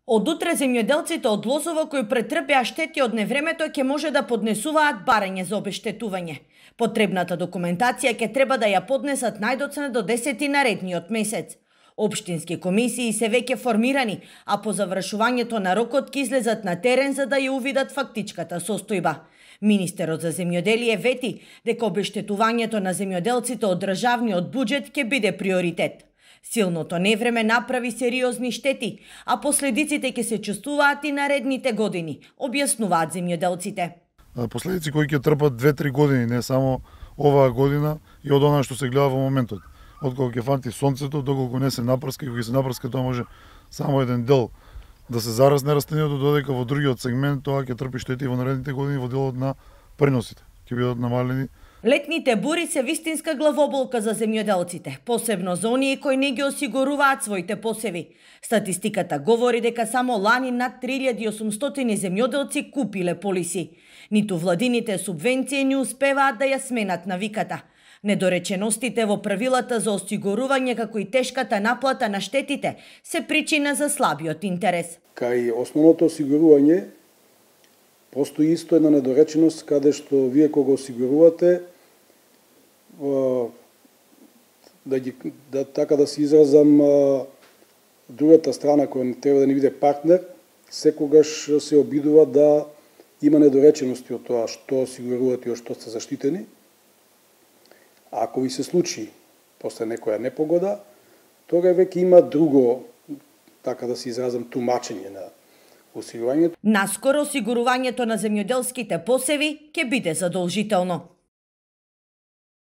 Од утре земјоделците од Лозово кои претрпеа штети од невремето ќе може да поднесуваат барање за обештетување. Потребната документација ќе треба да ја поднесат најдоцна до 10 наредниот месец. Општински комисии се веќе формирани, а по завршувањето на рокот ќе излезат на терен за да ја увидат фактичката состојба. Министерот за земјоделие вети дека обештетувањето на земјоделците од државниот буџет ќе биде приоритет. Силното невреме направи сериозни штети, а последиците ќе се чувствуваат и наредните години, објаснуваат земјоделците. Последици кои ќе трпат 2-3 години, не само оваа година и од она што се гледа во моментот. Од кога ќе фанти сонцето, доколку не се напрска, и кога се напрска, тоа може само еден дел да се зарасне растението, додека во другиот сегмент тоа ќе трпи штети во наредните години во делот на преносите. Ќе бидат намалени. Летните бури се вистинска главоболка за земјоделците, посебно за оние кои не ги осигуруваат своите посеви. Статистиката говори дека само лани над 3800 земјоделци купиле полиси. Ниту владините субвенции не успеваат да ја сменат навиката. Недореченостите во правилата за осигурување како и тешката наплата на штетите се причина за слабиот интерес. Кај основното осигурување постои исто една недореченост каде што вие кога осигурувате така да се изразам, другата страна која треба да ни биде партнер, секогаш се обидува да има недоречености од тоа што осигурувате и од што сте заштитени. А ако ви се случи после некоја непогода, тога веќе има друго, така да се изразам, тумачење на осигурувањето. Наскоро осигурувањето на земјоделските посеви ќе биде задолжително.